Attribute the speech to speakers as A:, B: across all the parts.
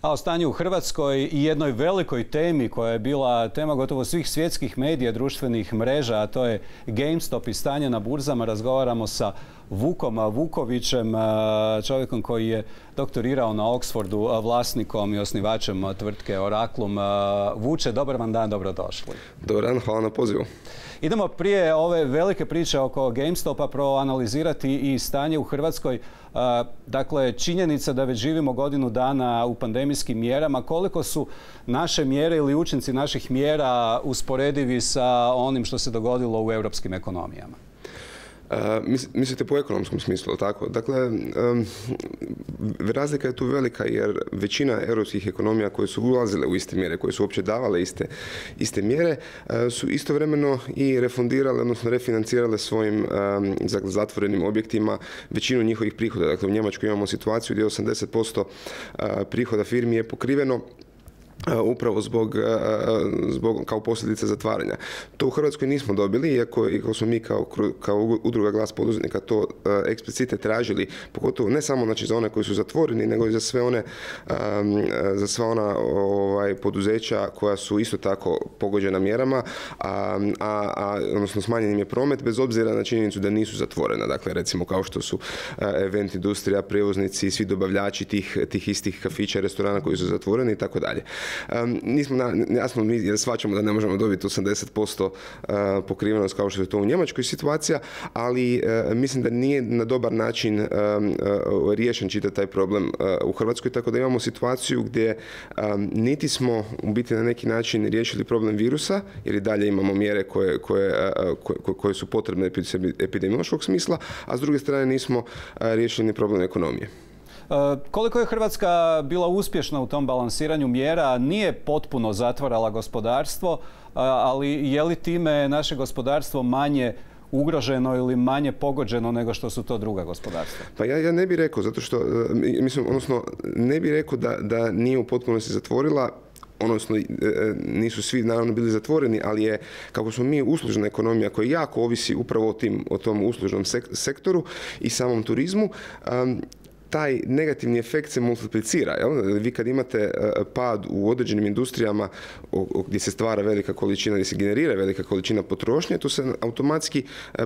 A: A o stanju u Hrvatskoj i jednoj velikoj temi koja je bila tema gotovo svih svjetskih medija, društvenih mreža, a to je GameStop i stanje na burzama, razgovaramo sa Vukom Vukovićem, čovjekom koji je doktorirao na Oxfordu, vlasnikom i osnivačem tvrtke Oraclum. Vuče, dobar vam dan, dobrodošli.
B: Dobar dan, hvala na pozivu.
A: Idemo prije ove velike priče oko GameStopa proanalizirati i stanje u Hrvatskoj. Dakle, činjenica da već živimo godinu dana u pandemijskim mjerama. Koliko su naše mjere ili učinci naših mjera usporedivi sa onim što se dogodilo u europskim ekonomijama?
B: Mislite po ekonomskom smislu, tako? Dakle, razlika je tu velika jer većina europskih ekonomija koje su ulazile u iste mjere, koje su uopće davale iste mjere, su istovremeno i refundirale, odnosno refinancirale svojim zatvorenim objektima većinu njihovih prihoda. Dakle, u Njemačkoj imamo situaciju gdje 80% prihoda firmi je pokriveno upravo zbog kao posljedice zatvaranja. To u Hrvatskoj nismo dobili, iako smo mi kao udruga Glas poduzetnika to eksplicite tražili, pogotovo ne samo znači, za one koji su zatvoreni, nego i za sva ona poduzeća koja su isto tako pogođena mjerama, odnosno smanjen im je promet bez obzira na činjenicu da nisu zatvorena. Dakle, recimo kao što su event industrija, prijevoznici, svi dobavljači tih istih kafića, restorana koji su zatvoreni i tako dalje. Jasno, mi shvaćamo da ne možemo dobiti 80% pokrivenost kao što je to u Njemačkoj situacija, ali mislim da nije na dobar način riješen čitav taj problem u Hrvatskoj, tako da imamo situaciju gdje niti smo u biti na neki način riješili problem virusa, jer i dalje imamo mjere koje su potrebne epidemiološkog smisla, a s druge strane nismo riješili ni problem ekonomije.
A: Koliko je Hrvatska bila uspješna u tom balansiranju mjera? Nije potpuno zatvarala gospodarstvo, ali je li time naše gospodarstvo manje ugroženo ili manje pogođeno nego što su to druga gospodarstva?
B: Pa ja ne bih rekao, zato što, ne bih rekao da nije u potpunosti zatvorila, odnosno nisu svi naravno bili zatvoreni, ali je, kako smo mi uslužna ekonomija koja jako ovisi upravo o tom uslužnom sektoru i samom turizmu, taj negativni efekt se multiplicira. Vi kad imate pad u određenim industrijama gdje se stvara velika količina, gdje se generira velika količina potrošnje, to se automatski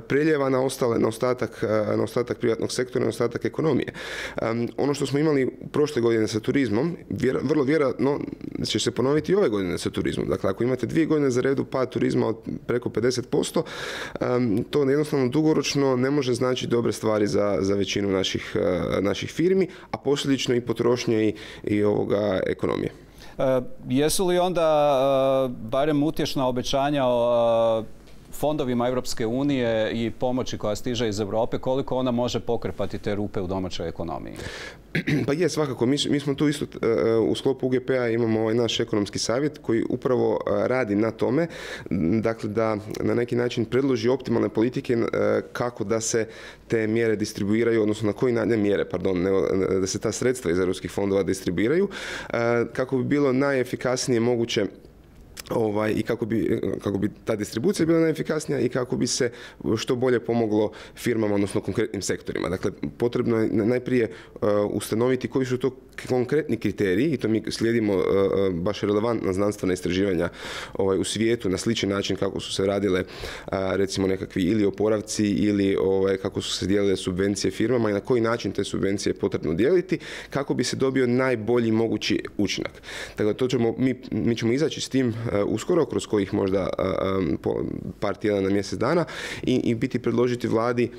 B: preljeva na ostatak privatnog sektora, na ostatak ekonomije. Ono što smo imali prošle godine sa turizmom, vrlo vjerojatno će se ponoviti i ove godine sa turizmom. Dakle, ako imate 2 godine za redu pad turizma od preko 50%, to jednostavno dugoročno ne može znači dobre stvari za većinu naših firmi, a posljedično i potrošnje i ekonomije.
A: Jesu li onda barem utješna obećanja o fondovima Europske unije i pomoći koja stiže iz Europe, koliko ona može pokrpati te rupe u domaćoj ekonomiji?
B: Pa je, svakako. Mi smo tu isto u sklopu UGP-a imamo naš ekonomski savjet koji upravo radi na tome, dakle da na neki način predloži optimalne politike kako da se te mjere distribuiraju, odnosno na koji da se ta sredstva iz europskih fondova distribuiraju, kako bi bilo najefikasnije moguće i kako bi ta distribucija bila najefikasnija i kako bi se što bolje pomoglo firmama, odnosno konkretnim sektorima. Dakle, potrebno je najprije ustanoviti koji su to konkretni kriteriji i to mi slijedimo baš relevantna znanstvena istraživanja u svijetu na sličan način kako su se radile recimo nekakvi ili oporavci ili kako su se dijelile subvencije firmama i na koji način te subvencije je potrebno dijeliti kako bi se dobio najbolji mogući učinak. Dakle, mi ćemo izaći s tim uskoro, kroz kojih možda par tjedana na mjesec dana i biti predložiti vladi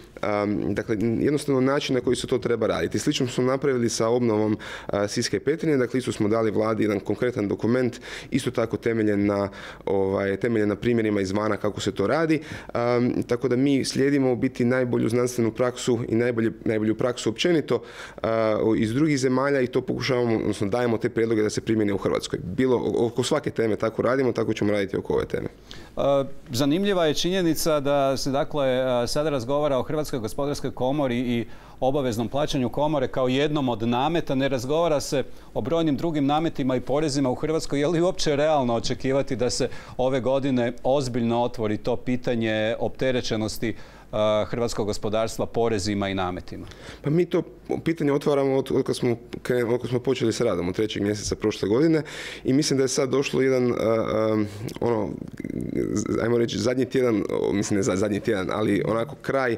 B: dakle, jednostavno način na koji se to treba raditi. Slično smo napravili sa obnovom Siska i Petrinje, dakle isto smo dali vladi jedan konkretan dokument, isto tako temeljen na primjerima izvana kako se to radi, tako da mi slijedimo biti najbolju znanstvenu praksu i najbolju praksu općenito iz drugih zemalja i to pokušavamo, odnosno dajemo te prijedloge da se primjene u Hrvatskoj. Bilo oko svake teme tako radimo, tako ćemo raditi oko ove teme.
A: Zanimljiva je činjenica da se dakle sada razgovara o Hrvatskoj gospodarskoj komori i obaveznom plaćanju komore kao jednom od nameta. Ne razgovara se o brojnim drugim nametima i porezima u Hrvatskoj. Je li uopće realno očekivati da se ove godine ozbiljno otvori to pitanje opterećenosti hrvatskog gospodarstva porezima i nametima?
B: Pa mi to pitanje otvaramo od kad smo počeli sa radom od 3. mjeseca prošle godine i mislim da je sad došlo jedan, ajmo reći, zadnji tjedan, mislim ne zadnji tjedan, ali onako kraj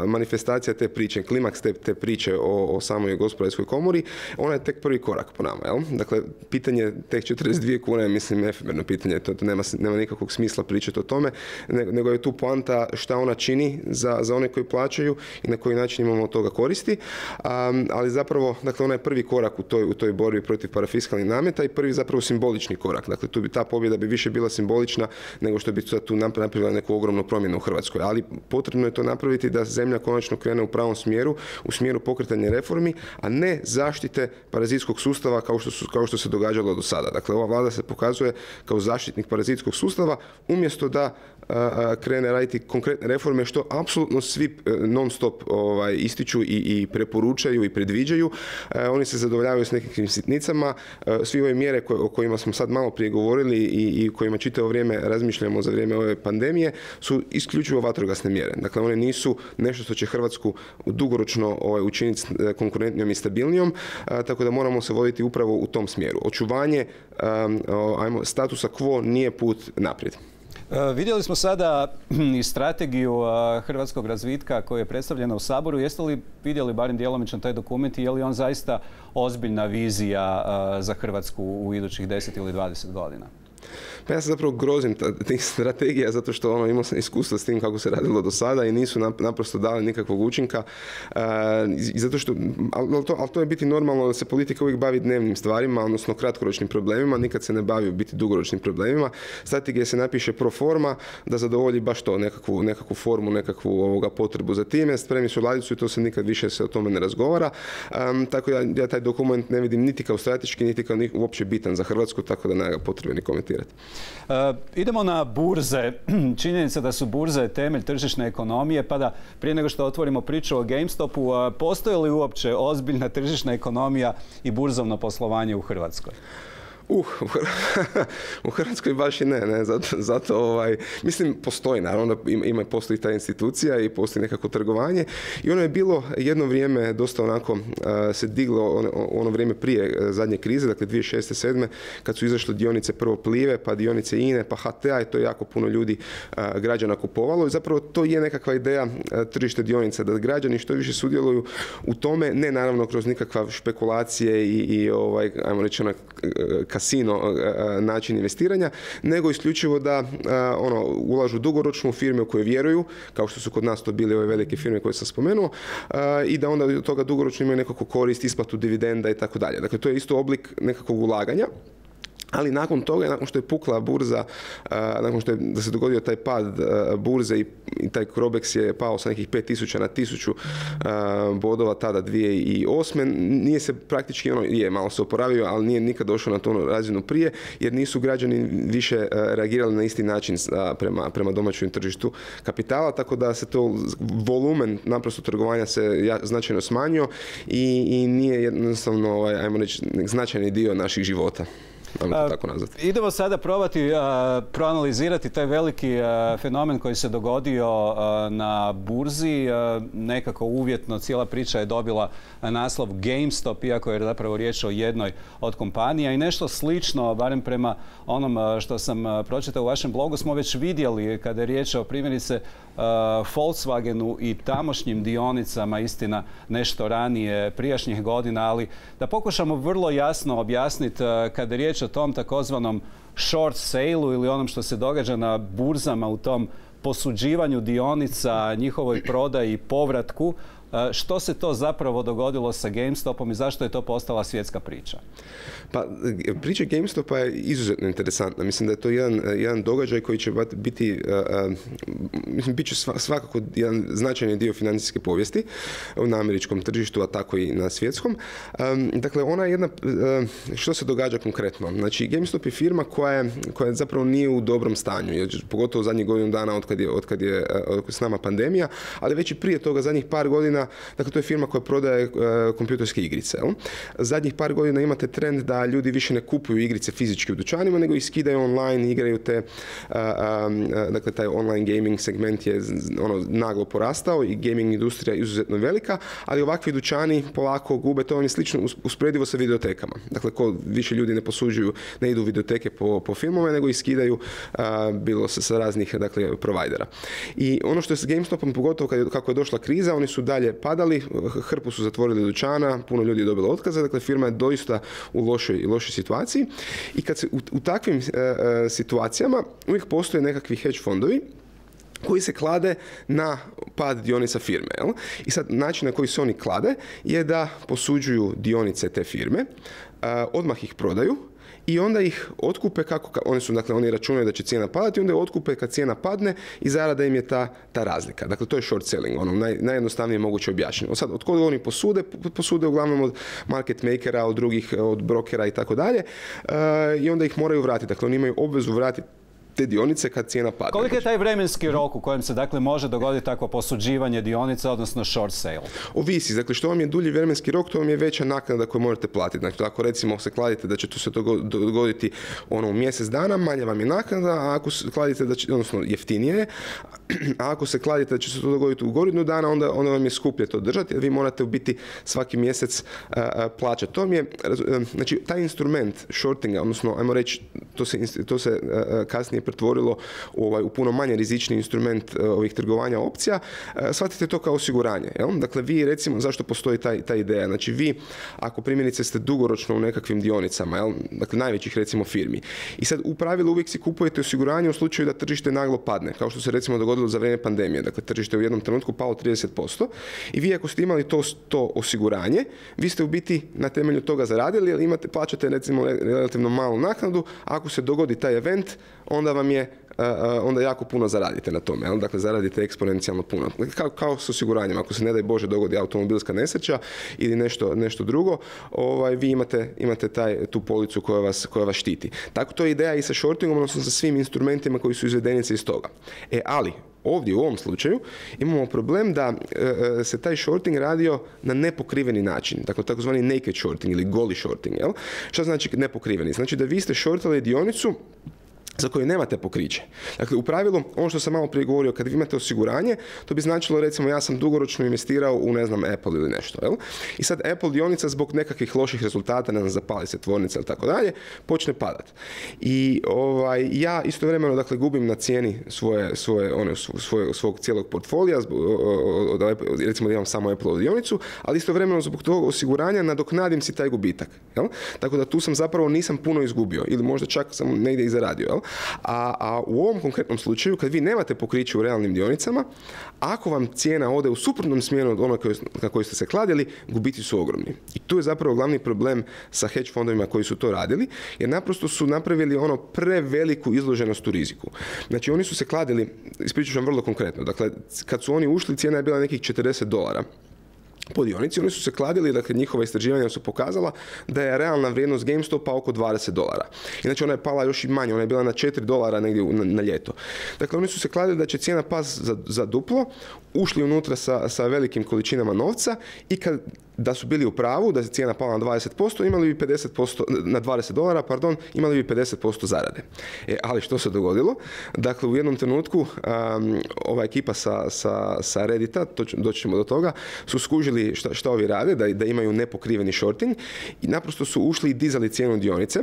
B: manifestacija te priče, klimaks te priče o samoj gospodarskoj komori, ona je tek prvi korak po nama, jel? Dakle, pitanje tek 42 kune je, mislim, efemerno pitanje, to nema nikakvog smisla pričati o tome, nego je tu poanta šta ona čini za one koji plaćaju i na koji način imamo od toga koristi, ali zapravo, dakle, ona je prvi korak u toj borbi protiv parafiskalnih nameta i prvi zapravo simbolični korak. Dakle, ta pobjeda bi više bila simbolična nego što bi tu napravila neku ogromnu promjenu u Hrvatskoj, ali potrebno je to napraviti da zemlja konačno krene u pravom smjeru, u smjeru pokretanja reformi, a ne zaštite parazitskog sustava kao što se događalo do sada. Dakle, ova vlada se pokazuje kao zaštitnik parazitskog sustava umjesto da krene raditi konkretne reforme, što apsolutno svi non stop ističu i preporučaju i predviđaju. Oni se zadovoljavaju s nekakvim sitnicama. Svi ove mjere o kojima smo sad malo prije govorili i kojima čitavo vrijeme razmišljamo za vrijeme ove pandemije su isključivo vatrogasne mjere. Dakle, one nisu nešto što će Hrvatsku dugoročno učiniti konkurentnijom i stabilnijom, tako da moramo se voditi upravo u tom smjeru. Očuvanje statusa quo nije put naprijed.
A: Vidjeli smo sada i strategiju hrvatskog razvitka koja je predstavljena u Saboru. Jeste li vidjeli barem djelomično taj dokument i je li on zaista ozbiljna vizija za Hrvatsku u idućih 10 ili 20 godina?
B: Pa ja se zapravo grozim tih strategija zato što imao sam iskustva s tim kako se radilo do sada i nisu naprosto dali nikakvog učinka. Zato što, ali to je biti normalno da se politika uvijek bavi dnevnim stvarima, odnosno kratkoročnim problemima, nikad se ne bavi u biti dugoročnim problemima. Strategija se napiše pro forma da zadovolji baš to, nekakvu formu, nekakvu potrebu za time. Spremi su ladicu i to se nikad više se o tome ne razgovara. Tako ja taj dokument ne vidim niti kao strateški, niti kao uopće bitan za Hrvatsku, tako da nema ga potrebe ni komentirati.
A: Idemo na burze. Činjenica da su burze temelj tržišne ekonomije, pa da prije nego što otvorimo priču o GameStopu, postoji li uopće ozbiljna tržišna ekonomija i burzovno poslovanje u Hrvatskoj?
B: U Hrvatskoj baš i ne. Zato mislim, postoji, naravno, postoji ta institucija i postoji nekako trgovanje i ono je bilo jedno vrijeme dosta onako se diglo ono vrijeme prije zadnje krize, dakle 2006-2007, kad su izašle dionice prvo Plive, pa dionice INE, pa HT-a i to je jako puno ljudi, građana kupovalo i zapravo to je nekakva ideja tržište dionica, da građani što više sudjeluju u tome, ne naravno kroz nikakve špekulacije i ajmo reći kasino način investiranja, nego isključivo da ulažu dugoročno u firme u koje vjeruju, kao što su kod nas to bile ove velike firme koje sam spomenuo, i da onda od toga dugoročno imaju nekako korist, isplatu dividenda i tako dalje. Dakle, to je isto oblik nekakvog ulaganja. Ali nakon toga, nakon što je pukla burza, nakon što da se dogodio taj pad burze i taj Crobex je pao sa nekih 5000 na 1000 bodova tada 2008. Nije se praktički, malo se oporavio, ali nije nikad došao na tu razinu prije, jer nisu građani više reagirali na isti način prema domaćem tržištu kapitala, tako da se to volumen naprosto trgovanja se značajno smanjio i nije jednostavno, ajmo reći, značajni dio naših života.
A: Idemo sada probati proanalizirati taj veliki fenomen koji se dogodio na burzi. Nekako uvjetno cijela priča je dobila naslov GameStop, iako je zapravo riječ o jednoj od kompanija i nešto slično, barem prema onom što sam pročitao u vašem blogu, smo već vidjeli kada je riječ o primjerice Volkswagenu i tamošnjim dionicama, istina nešto ranije prijašnjih godina, ali da pokušamo vrlo jasno objasniti kada je riječ o tom takozvanom short sale-u ili onom što se događa na burzama u tom posuđivanju dionica, njihovoj prodaji i povratku. Što se to zapravo dogodilo sa GameStopom i zašto je to postala svjetska priča?
B: Pa, priča GameStopa je izuzetno interesantna. Mislim da je to jedan događaj koji će biti, mislim, bit će svakako jedan značajni dio financijske povijesti na američkom tržištu, a tako i na svjetskom. Dakle, ona je jedna, što se događa konkretno? Znači, GameStop je firma koja zapravo nije u dobrom stanju, jer, pogotovo zadnjih godinu dana od kad je s nama pandemija, ali već i prije toga, zadnjih par godina, dakle, to je firma koja prodaje kompjuterske igrice. Zadnjih par godina imate trend da ljudi više ne kupuju igrice fizički u dućanima, nego ih skidaju online, igraju te, dakle, taj online gaming segment je naglo porastao i gaming industrija je izuzetno velika, ali ovakvi dućani polako gube, to vam je slično usporedivo sa videotekama. Dakle, ko više ljudi ne posuđuju, ne idu u videoteke po filmove, nego ih skidaju bilo sa raznih, dakle, provajdera. I ono što je s GameStopom, pogotovo kako je došla kriza, oni su dalje padali, hrpu su zatvorili dućana, puno ljudi je dobilo otkaze, dakle, firma je doista u lošoj situaciji. I kad se u takvim situacijama uvijek postoje nekakvi hedge fondovi koji se klade na pad dionica firme. Jel? I sad način na koji se oni klade je da posuđuju dionice te firme, odmah ih prodaju i onda ih otkupe oni računaju da će cijena padati, onda je otkupe kad cijena padne i zarada im je ta razlika. Dakle, to je short selling, najjednostavnije moguće objašnjeno. Sad, od koga oni posude uglavnom od market makera, od brokera i tako dalje, i onda ih moraju vratiti. Dakle, oni imaju obvezu vratiti te dionice kad cijena pada.
A: Koliko je taj vremenski rok u kojem se, dakle, može dogoditi takvo posuđivanje dionica, odnosno short sale?
B: Ovisi. Dakle, što vam je dulji vremenski rok, to vam je veća naknada koju morate platiti. Dakle, ako recimo se kladite da će to se dogoditi u mjesec dana, manja vam je naknada, a ako se kladite odnosno jeftinije je, a ako se kladite da će se to dogoditi u godinu dana, onda vam je skuplje to držati, jer vi morate u biti svaki mjesec plaćati. To mi je, znači, taj instrument shortinga, odnosno, ajmo reći, to se kasnije pretvorilo u puno manje rizični instrument ovih trgovanja opcija, shvatite to kao osiguranje. Jel? Dakle, vi, recimo, zašto postoji ta ideja? Znači, vi, ako primjerice ste dugoročno u nekakvim dionicama, jel? Dakle, najvećih, recimo, firmi, i sad u pravilu uvijek si kupujete osiguranje u slučaju da tržište naglo padne, kao što se, recimo, dogodilo za vrijeme pandemije. Dakle, tržište u jednom trenutku palo 30% i vi, ako ste imali to osiguranje, vi ste u biti na temelju toga zaradili, jer plaćate, recimo, relativno malu naknadu, a ako se dogodi taj event, onda jako puno zaradite na tome. Dakle, zaradite eksponencijalno puno. Kao s osiguranjem. Ako se, ne daj Bože, dogodi automobilska nesreća ili nešto drugo, vi imate tu policu koja vas štiti. Tako to je ideja i sa shortingom, odnosno sa svim instrumentima koji su izvedenice iz toga. Ali, ovdje u ovom slučaju imamo problem da se taj shorting radio na nepokriveni način, dakle takozvani naked shorting ili goli shorting. Jel? Šta znači nepokriveni? Znači da vi ste shortali dionicu za koju nemate pokriće. Dakle, u pravilu, ono što sam malo prije govorio, kad vi imate osiguranje, to bi značilo, recimo, ja sam dugoročno investirao u, ne znam, Apple ili nešto. Jel? I sad Apple dionica zbog nekakvih loših rezultata, ne znam, zapali se tvornica ili tako dalje, počne padati. I ja istovremeno, dakle, gubim na cijeni svog cijelog portfolija, recimo da imam samo Apple dionicu, ali istovremeno zbog tog osiguranja nadoknadim si taj gubitak. Jel? Tako da tu sam zapravo nisam puno izgubio ili možda čak sam negdje i zaradio. Jel? A u ovom konkretnom slučaju, kad vi nemate pokriće u realnim dionicama, ako vam cijena ode u suprotnom smjeru od onog na koji ste se kladili, gubici su ogromni. I tu je zapravo glavni problem sa hedge fondovima koji su to radili, jer naprosto su napravili preveliku izloženost u riziku. Znači, oni su se kladili, ispričat ću vam vrlo konkretno, dakle, kad su oni ušli, cijena je bila nekih $40 po dionici, oni su se kladili, dakle, njihova istraživanja su pokazala da je realna vrijednost GameStopa oko $20. Inače, ona je pala još i manje, ona je bila na $4 negdje na ljeto. Dakle, oni su se kladili da će cijena pasti za duplo, ušli unutra sa velikim količinama novca i da su bili u pravu, da je cijena pala na 20%, imali bi na $20, pardon, imali bi 50% zarade. Ali što se dogodilo? Dakle, u jednom trenutku ova ekipa sa Reddita, doći ćemo do toga, su skužili šta ovi rade, da imaju nepokriveni shorting i naprosto su ušli i dizali cijenu dionice.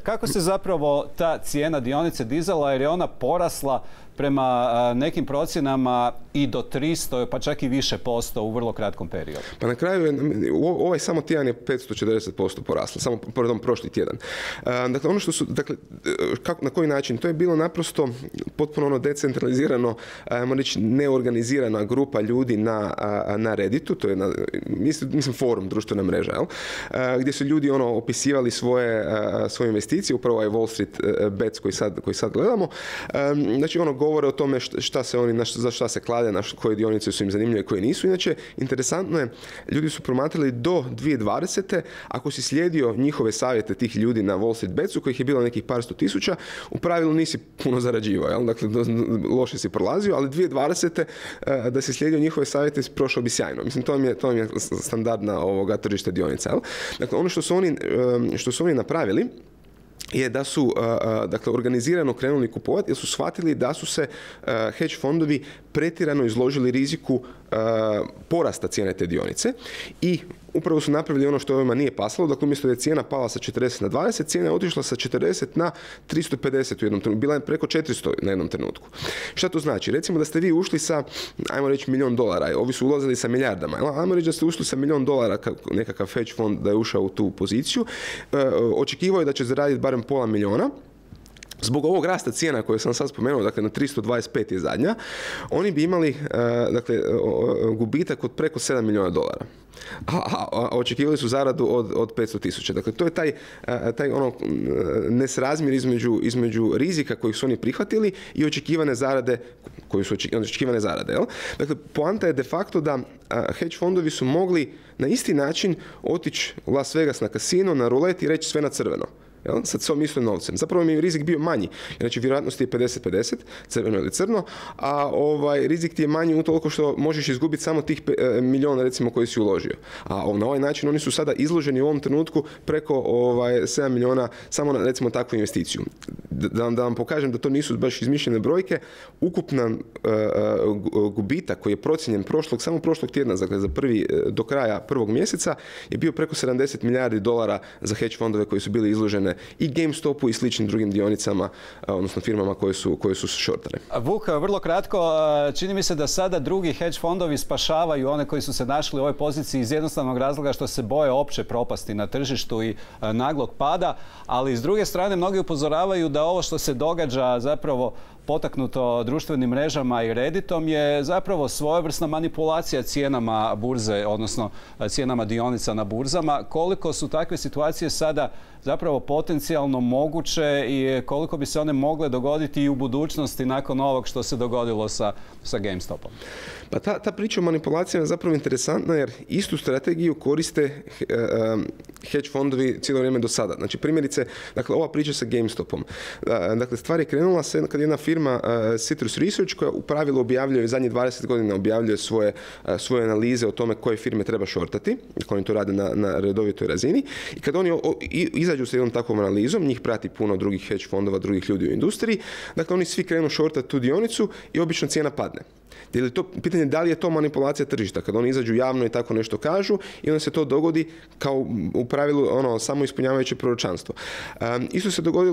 A: Kako se zapravo ta cijena dionice dizala, jer je ona porasla prema nekim procjenama i do 300, pa čak i više posto u vrlo kratkom periodu.
B: Pa na kraju, ovaj samo tjedan je 540% poraslo, prošli tjedan. Dakle, ono što su, dakle, na koji način? To je bilo naprosto potpuno decentralizirano, ajmo reći, neorganizirana grupa ljudi na Redditu, to je mislim forum, društvena mreža, gdje su ljudi opisivali svoje investicije, upravo ovaj Wall Street Bets koji sad gledamo. Znači, govore o tome šta se oni, za šta se klade, na koje dionice su im zanimljive, koje nisu. Inače, interesantno je, ljudi su promatrali do 2020. Ako si slijedio njihove savjete tih ljudi na Wall Street Betsu, kojih je bilo nekih par sto tisuća, u pravilu nisi puno zarađivao, jel? Dakle, loše si prolazio, ali 2020. Da si slijedio njihove savjete, prošao bi sjajno. Mislim, to vam je standardna tržište dionica, jel? Dakle, ono što su oni napravili je da su dakle, organizirano krenuli kupovati jer su shvatili da su se hedge fondovi pretjerano izložili riziku porasta cijene te dionice i upravo su napravili ono što ovima nije pasalo. Dakle, umjesto da je cijena pala sa 40 na 20, cijena je otišla sa 40 na 350 u jednom trenutku. Bila je preko 400 na jednom trenutku. Šta to znači? Recimo da ste vi ušli sa, ajmo reći, $1 milijun, ovi su ulazili sa milijardama. Ajmo reći da ste ušli sa $1 milijun, nekakav hedge fond da je ušao u tu poziciju. Očekivao je da će zaraditi barem pola milijuna. Zbog ovog rasta cijena koje sam sad spomenuo, dakle na 325 je zadnja, oni bi imali dakle, gubitak od preko $7 milijuna. A očekivali su zaradu od 500.000. Dakle, to je taj nesrazmjer između rizika kojih su oni prihvatili i očekivane zarade jel? Dakle, poanta je de facto da hedge fondovi su mogli na isti način otići u Las Vegas na kasino, na rulet i reći sve na crveno. Jel? Sad svom istom novcem. Zapravo mi je rizik bio manji. Znači, vjerojatnost je 50-50, crveno ili crno, a rizik ti je manji utoliko što možeš izgubiti samo tih milijuna, recimo, koji si uložio. A na ovaj način oni su sada izloženi u ovom trenutku preko 7 milijuna samo na, recimo, takvu investiciju. Da vam pokažem da to nisu baš izmišljene brojke, ukupan gubitak koji je procijenjen samo prošlog tjedna, dakle do kraja prvog mjeseca, je bio preko $70 milijardi za hedge fondove koji su bili izložene i GameStopu i sličnim drugim dionicama, odnosno firmama koje su shortane.
A: Vuk, vrlo kratko, čini mi se da sada drugi hedge fondovi spašavaju one koji su se našli u ovoj poziciji iz jednostavnog razloga što se boje opće propasti na tržištu i naglog pada, ali s druge strane mnogi upozoravaju da ovo što se događa zapravo potaknuto društvenim mrežama i Redditom je zapravo svojevrsna manipulacija cijenama burze, odnosno cijenama dionica na burzama. Koliko su takve situacije sada zapravo potencijalno moguće i koliko bi se one mogle dogoditi i u budućnosti nakon ovog što se dogodilo sa GameStopom?
B: Pa ta priča o manipulacijama je zapravo interesantna jer istu strategiju koriste hedge fondovi cijelo vrijeme do sada. Znači, primjerice, dakle, ova priča sa GameStopom. Dakle, stvar je krenula se kad jedna firma Citrus Research, koja u pravilu objavljuje, zadnjih 20 godina objavljuje svoje analize o tome koje firme treba shortati, kako oni to rade na redovitoj razini. I kad oni izađu sa jednom takvom analizom, njih prati puno drugih hedge fondova, drugih ljudi u industriji, dakle, oni svi krenu shortati tu dionicu i obično cijena padne. Pitanje je da li je to manipulacija tržišta, kad oni izađu javno i tako nešto kažu i onda se to dogodi kao u pravilu samo ispunjavajuće proročanstvo.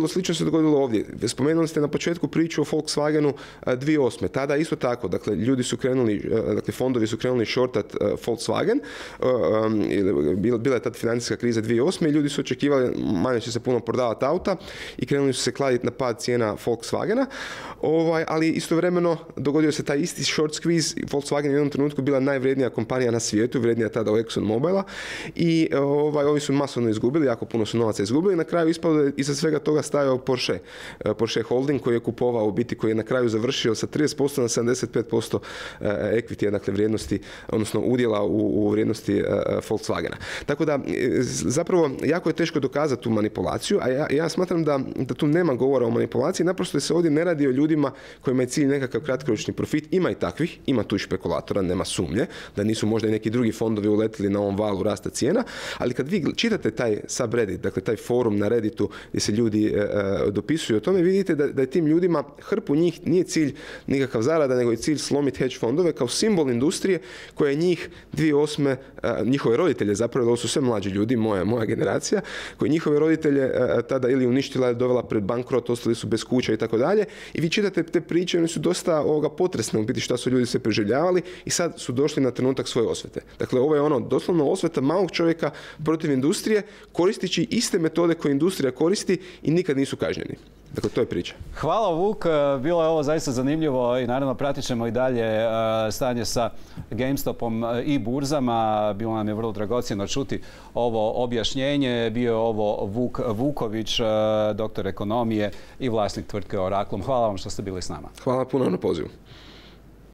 B: Slično se dogodilo ovdje. Spomenuli ste na početku priču o Volkswagenu 2008. Tada isto tako, dakle, fondovi su krenuli shortat Volkswagen, bila je tad financijska kriza 2008. i ljudi su očekivali manje će se puno prodavati auta i krenuli su se kladiti na pad cijena Volkswagena, ali istovremeno dogodio se taj isti short squeeze. Volkswagen je u jednom trenutku bila najvrednija kompanija na svijetu, vrednija tada od ExxonMobila i ovi su masovno izgubili, jako puno su novaca izgubili. Na kraju ispalo da je iza svega toga stajao Porsche Holding koji je kupovao u biti, koji je na kraju završio sa 30% na 75% equity, dakle vrijednosti, odnosno udjela u vrijednosti Volkswagena. Tako da zapravo jako je teško dokazati tu manipulaciju, a ja smatram da tu nema govora o manipulaciji, naprosto se ovdje ne radi o ljudima kojima je cilj nekakav kratkoročni profit. Ima i takvih, ima tu špekulatora, nema sumnje, da nisu možda i neki drugi fondovi uletili na ovom valu rasta cijena, ali kad vi čitate taj subreddit, dakle taj forum na Redditu gdje se ljudi dopisuju o tome, vidite da je tim ljudima, hrpu njih nije cilj nikakav zarada, nego je cilj slomiti hedge fondove kao simbol industrije koja je njih 2008. Njihove roditelje, zapravo, ovo su sve mlađi ljudi, moja generacija, koji njihove roditelje tada ili uništila ili dovela pred bankrot, ostali su bez kuća i tako dalje. I vi čitate te priče, oni su dosta potresne u biti šta su ljudi sve preživljavali i sad su došli na trenutak svoje osvete. Dakle, ovo je doslovno osveta malog čovjeka protiv industrije, koristeći iste metode koje industrija koristi i nikad nisu kažnjeni. Dakle, to je priča.
A: Hvala, Vuk. Bilo je ovo zaista zanimljivo i naravno pratit ćemo i dalje stanje sa GameStopom i burzama. Bilo nam je vrlo dragocjeno čuti ovo objašnjenje. Bio je ovo Vuk Vuković, doktor ekonomije i vlasnik tvrtke Oraklum. Hvala vam što ste bili s nama.
B: Hvala puno na pozivu.